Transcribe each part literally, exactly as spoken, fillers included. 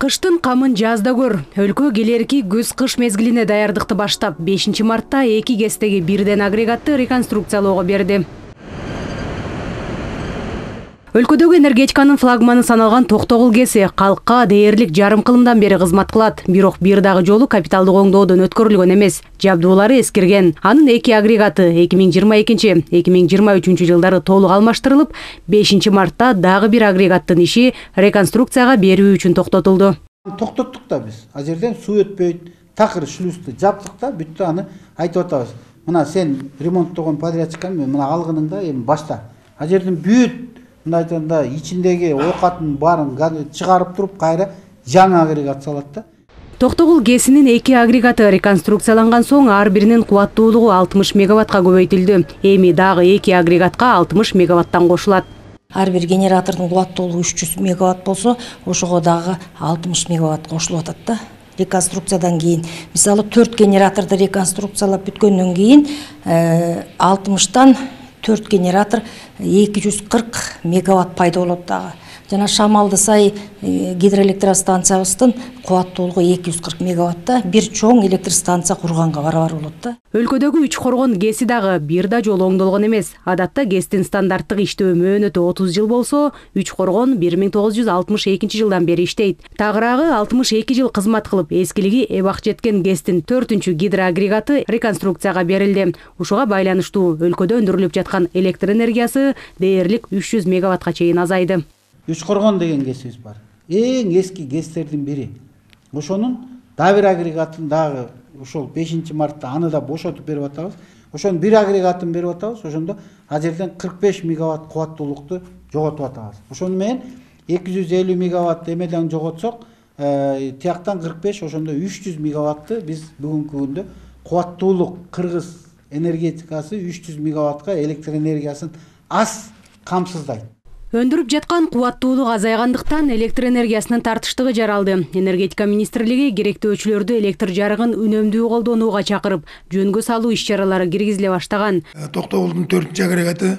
Кыштын камын жазда көр. Өлкө келерки күз-кыш мезгилине даярдыкты баштап, бешинчи мартта эки ГЭСтеги бирден агрегатты реконструкциялоого берди. Өлкөдөгү энергетиканын флагманы саналган Токтогул ГЭСи калкка дээрлик жарым кылымдан бери кызмат кылат. Бирок бир дагы жолу капиталдык оңдоодон өткөрүлгөн эмес. Жабдуулары эскирген. Анын эки агрегаты эки миң жыйырма экинчи — эки миң жыйырма үчүнчү жылдары толук алмаштырылып, бешинчи мартта дагы бир агрегаттын иши реконструкцияга берүү үчүн токтотулду. Токтоттук да биз. А жерден суу өтпөйт, такыр шлюзду жаптык да, бүттү, аны айтып атабыз. Мына сен ремонттогон подрядчикка мына алгыныңда эми башта. А жерден бүт мындай айтканда ичиндеги оокатын баарын чыгарып туруп кайра жаңы агрегат салат да. Токтогул ГЭСинин эки агрегаты реконструкцияланган соң ар биринин кубаттуулугу алтымыш мегаваттка көбөйтүлдү. Эми дагы эки агрегатка алтымыш мегаваттан кошулат. Ар бир генератордун кубаттуулугу үч жүз мегаватт болсо, ошого дагы алтымыш мегаватт кошулуп атат да. Реконструкциядан кийин, мисалы төрт генераторду реконструкциялап бүткөндөн кийин алтымыштан төрт генератор эки жүз кырк мегаватт пайда болот дагы. Жана Шамалды сай гидроэлектростанциябыздын кубаттуулугу эки жүз кырк мегаватта бир чоң электр станция курганга барабар болот да. Өлкөдөгү үч коргон ГЭСи дагы бир да жолу оңдолгон эмес. Адатта ГЭСтин стандарттык иштөө мөөнөтү отуз жыл болсо, үч коргон бир миң тогуз жүз алтымыш экинчи жылдан бери иштейт. Тагыраагы алтымыш эки жыл кызмат кылып, эскилиги эбак жеткен ГЭСтин төртүнчү гидроагрегаты реконструкцияга берилди. Ушуга байланыштуу өлкөдө өндүрүлүп жаткан электр энергиясы дээрлик үч жүз мегаваттка чейин азайды. Үч коргон деген ГЭСибиз бар. Эң эски ГЭСтердин бири. Ошонун дагы бир агрегатын дагы ошол бешинчи мартта аны да бошотуп берип атабыз. Ошонун бир агрегатын берип атабыз. Ошондо а жерден кырк беш мегаватт кубаттуулукту жоготуп атабыз. Ошону менен эки жүз элүү мегаватт эмеден жоготсок, тияктан кырк беш, ошондо үч жүз мегаватты биз бүгүнкү күндө кубаттуулук кыргыз энергетикасы үч жүз мегаваттка электр энергиясын аз камсыздайт. Өндүрүп жаткан кубаттуулук азайгандыктан электр энергиясынын тартыштыгы жаралды. Энергетика министрлиги керектөөчүлөрдү электр жарыгын үнөмдүү колдонууга чакырып, жөнгө салуу иш-чаралары киргизиле баштаган. Токтогулдун төртүнчү агрегаты,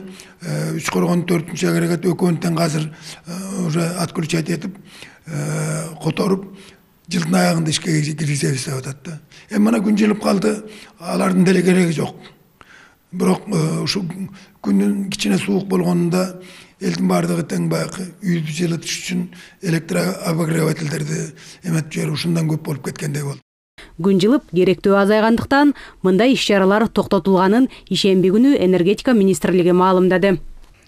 үч коргондун төртүнчү агрегаты өкмөттөн азыр уже отключать этип, которуп, жылдын аягында ишке киргизебиз деп атат да. Эми мына күн жылып калды, алардын деле кереги жок. Бирок ушу күндүн кичине суук болгонунда элдин баардыгы тең баягы үйдү жылытыш үчүн электр обогревательдерди эметип жиберип ушундан көп болуп кеткендей болду. Күн жылып, керектөө азайгандыктан мындай иш-чаралар токтотулганын ишемби күнү энергетика министрлиги маалымдады.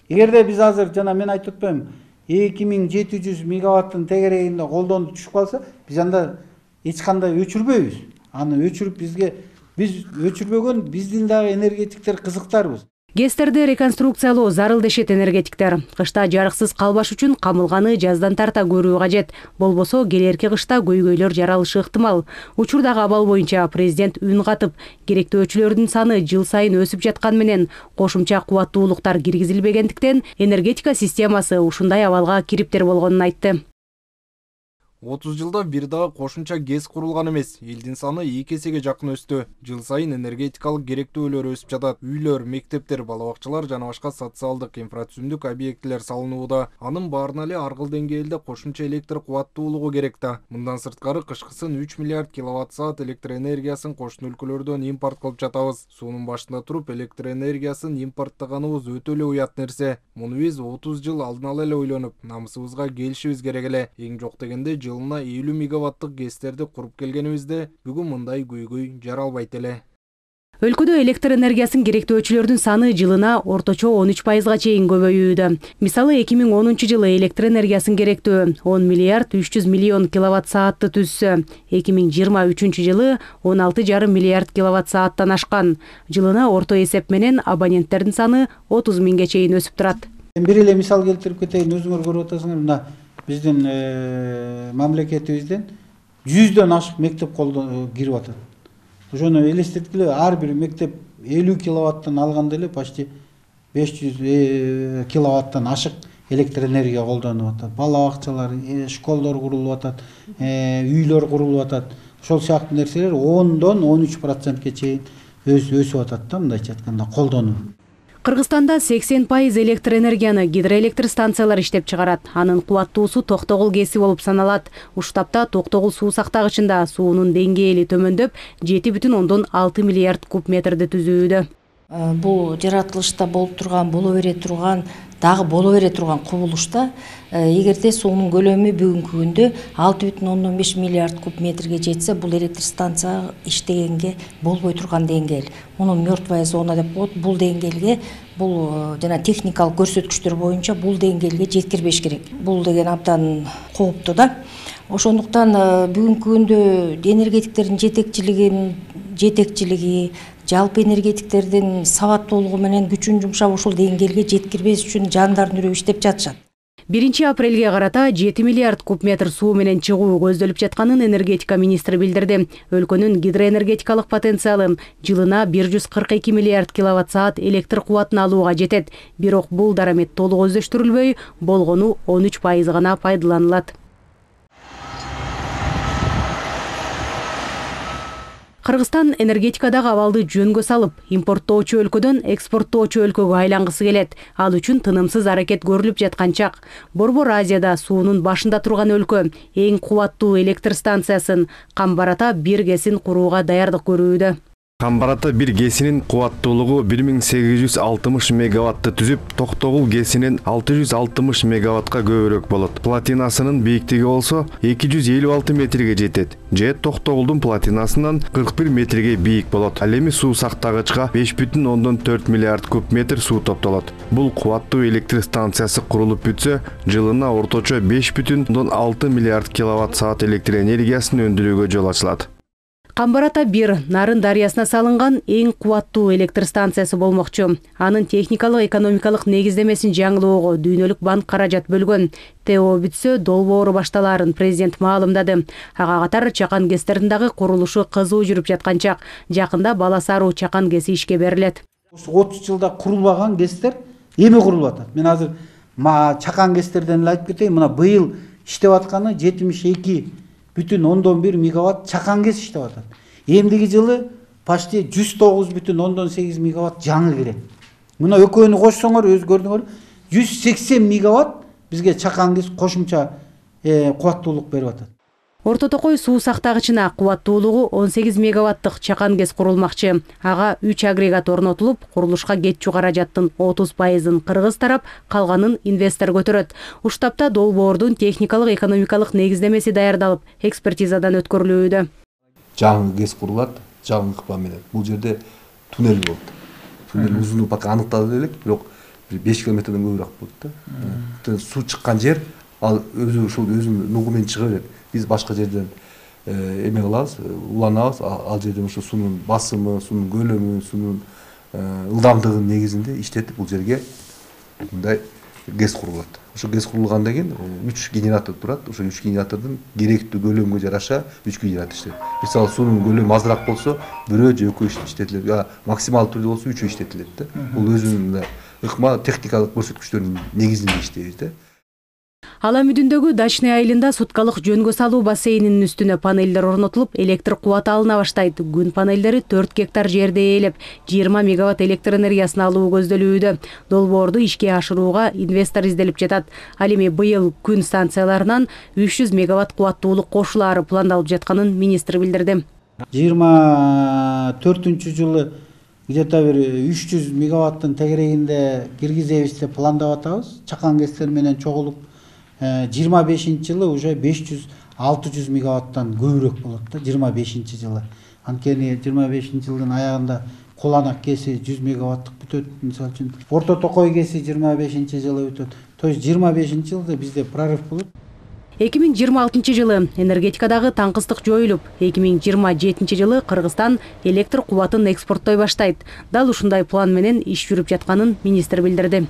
Эгерде биз азыр жана мен айтып атпаймынбы, эки миң жети жүз мегаваттын тегерегинде колдонуп түшүп калса, биз анда эч кандай өчүрбөйбүз. Аны өчүрүп бизге биз өчүрбөгөн биздин дагы энергетиктер кызыктарбыз. ГЭСтерди реконструкциялоо зарыл дешет энергетиктер. Кышта жарыксыз калбаш үчүн камылганы жаздан тарта көрүү кажет. Болбосо келерки кышта көйгөйлөр жаралышы ыктымал. Учурдагы абал боюнча президент үн катып, керектөөчүлөрдүн саны жыл сайын өсүп жаткан менен кошумча кубаттуулуктар киргизилбегендиктен энергетика системасы ушундай абалга кириптер болгонун айтты. отуз жылда бир дагы кошумча ГЭС курулган эмес. Элдин саны эки эсеге жакын өстү. Жыл сайын энергетикалык керектөөлөр өсүп жатат. Үйлөр, мектептер, бала бакчалар жана башка социалдык инфрачүнүндүк объектилер салынууда. Анын баарына эле ар кыл деңгээлде кошумча электр кубаттуулугу керек да. Мындан сырткары кышкысын үч миллиард киловатт саат электр энергиясын кошуна өлкөлөрдөн импорт кылып жатабыз. Суунун башында туруп электр энергиясын импорттаганыбыз өтө эле уят нерсе. Муну биз отуз жыл алдын ала эле ойлонуп, намысыбызга келишибиз керек эле. Эң жок дегенде жылына элүү мегаваттык ГЭСтерди куруп келгенибизде бүгүн мындай көйгөй жаралбайт эле. Өлкөдө электр энергиясын керектөөчүлөрдүн саны жылына орточо он үч пайызга чейин көбөйүүдө. Мисалы эки миң онунчу жылы электр энергиясын керектөө он миллиард үч жүз миллион киловатт саатты түзсө, эки миң жыйырма үчүнчү жылы он алты жарым миллиард киловатт сааттан ашкан. Жылына орто эсеп менен абоненттердин саны отуз миңге чейин өсүп турат. Бир эле мисал келтирип кетейин, өзүңөр көрүп атасыңар, мына биздин мамлекетибизден жүздөн ашык мектеп колдон кирип атат. Ошону элестеткиле, ар бир мектеп элүү киловаттан алганда эле почти беш жүз киловаттан ашык электр энергия колдонуп атат. Бала бакчалар, школдор курулуп атат, үйлөр курулуп атат. Ошол сыяктуу нерселер ондон он үч процентке чейин өсүп атат да, мындайча айтканда колдонуу. Кыргызстанда сексен пайыз электр энергияны гидроэлектр станциялар иштеп чыгарат. Анын кубаттуусу Токтогул ГЭСи болуп саналат. Уштапта Токтогул суу сактагычында суунун деңгээли төмөндөп, жети бүтүн ондон алты миллиард куб метрди түзүүдө. Бул жаратылышта болуп турган, боло бере турган, дагы боло бере турган кубулушта эгерде суунун көлөмү бүгүнкү күндө алты бүтүн ондон беш миллиард куб метрге жетсе, бул электр станция иштегенге болбой турган деңгээл. Муну мертвая зона деп коет. Бул деңгээлге, бул жана техникалык көрсөткүчтөр боюнча бул деңгээлге жеткирбеш керек. Бул деген абдан кооптуу да. Ошондуктан бүгүнкү күндө энергетиктердин жетекчилигин, жетекчилиги, жалпы энергетиктердин сабаттуулугу менен күчүн жумшап ушул деңгээлге жеткирбеш үчүн жандардын үрүп иштеп жатышат. биринчи апрелге карата жети миллиард куб метр суу менен чыгуу көздөлүп жатканын энергетика министри билдирди. Өлкөнүн гидроэнергетикалык потенциалы жылына бир жүз кырк эки миллиард киловатт саат электр кубатын алууга жетет. Бирок бул дарамет толук өздөштүрүлбөй, болгону он үч пайыз гана пайдаланылат. Кыргызстан энергетикадагы абалды жөнгө салып, импорттоочу өлкөдөн экспорттоочу өлкөгө айлангысы келет. Ал үчүн тынымсыз аракет көрүлүп жаткан чак. Борбор Азияда суунун башында турган өлкө эң кубаттуу электр станциясын Камбарата бир ГЭСин курууга даярдык көрүүдө. Камбарата бир ГЭСинин кубаттуулугу бир миң сегиз жүз алтымыш мегаватты түзүп, Токтогул ГЭСинин алты жүз алтымыш мегаваттка көбүрөөк болот. Платинасынын бийиктиги болсо эки жүз элүү алты метрге жетет. Же Токтогулдун платинасынан кырк бир метрге бийик болот. Ал эми суу сактагычка беш бүтүн ондон төрт миллиард куб метр суу топтолот. Бул кубаттуу электр станциясы курулуп бүтсө, жылына орточо беш бүтүн ондон алты миллиард киловатт саат электр энергиясын өндүрүүгө жол ачылат. Камбарата бир Нарын дарыясына салынган эң кубаттуу электр станциясы болмокчу. Анын техникалык экономикалык негиздемесин жаңылоого дүйнөлүк банк каражат бөлгөн. ТО бүтсө долбоору башталаарын президент маалымдады. Ага катар Чакан ГЭСтердин дагы курулушу кызуу жүрүп жаткан чак. Жакында Баласаруу Чакан ГЭСи ишке берилет. отуз жылда курулбаган ГЭСтер эми курулуп атат. Мен азыр Чакан ГЭСтерден эле айтып кетейин. Мына быйыл иштеп атканы жетимиш эки бүтүн ондон бир мегаватт Чакан ГЭС иштеп атат. Эмдиги жылы почти жүз тогуз бүтүн ондон сегиз мегаватт жаңы кирет. Мына экөөнү кошсоңор, өз көрдүңөр, жүз сексен мегаватт бизге Чакан ГЭС кошумча кубаттуулук берип атат. Орто Токой суу сактагычына кубаттуулугу он сегиз мегаваттык Чакан ГЭС курулмакчы. Ага үч агрегат орнотулуп, курулушка кетчү каражаттын отуз пайызын кыргыз тарап, калганын инвестор көтөрөт. Уштапта долбоордун техникалык экономикалык негиздемеси даярдалып, экспертизадан өткөрүлүүдө. Жаңы ГЭС курулат, жаңы ыкма менен. Бул жерде туннель болот. Туннель узундугу пока аныкталып элек, бирок беш километрден көбүрөөк болот да. Суу чыккан жер ал өзү ушул өзүнүн нугу менен чыга берет. Биз башка жерден эме кылабыз, уланабыз, ал жерден ушу суунун басымы, суунун көлөмү, суунун ылдамдыгынын негизинде иштетип бул жерге мындай ГЭС курулат. Ошо ГЭС курулгандан кийин үч генератор турат. Ошо үч генератордун керектүү көлөмгө жараша үч генератор иштейт. Мисалы суунун көлөмү азыраак болсо, бирөө же экөө иштетилет. Я максималдуу түрдө болсо үчөө иштетилет да. Бул өзүнүн ыкма техникалык көрсөткүчтөрүнүн негизинде иштейт да. Ала Мүдүндөгү Дачный айылында суткалык жөнгө салуу бассейнинин үстүнө панелдер орнотулуп, электр кубаты алына баштайт. Күн панелдери төрт гектар жерде ээлеп, жыйырма мегаватт электр энергиясын алуу көздөлүүдө. Долбоорду ишке ашырууга инвестор изделип жатат. Ал эми быйыл күн станцияларынан үч жүз мегаватт кубаттуулук кошулаары пландалып жатканын министр билдирди. жыйырма төртүнчү жылы где-то бир үч жүз мегаваттын тегерегинде киргизебиз деп пландап атабыз. Чакан ГЭСтер менен чогулуп жыйырма бешинчи жылы уже беш жүз алты жүз мегаваттан көбүрөөк болот да, жыйырма бешинчи жылы. Анткени жыйырма бешинчи жылдын аягында Куланак ГЭСи жүз мегаваттык бүтөт, мисалы үчүн Орто Токой ГЭСи жыйырма бешинчи жылы бүтөт. То есть жыйырма бешинчи жылда бизде прорыв болот. эки миң жыйырма алтынчы жылы энергетикадагы таңкыстык жоюлуп, эки миң жыйырма жетинчи жылы Кыргызстан электр кубатын экспорттой баштайт. Дал ушундай план менен иш жүрүп жатканын министр билдирди.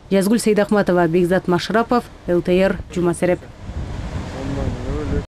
Жазгүл Сейдахматова, Бекзат Машрапов, эл тэ эр, Жума Сереп.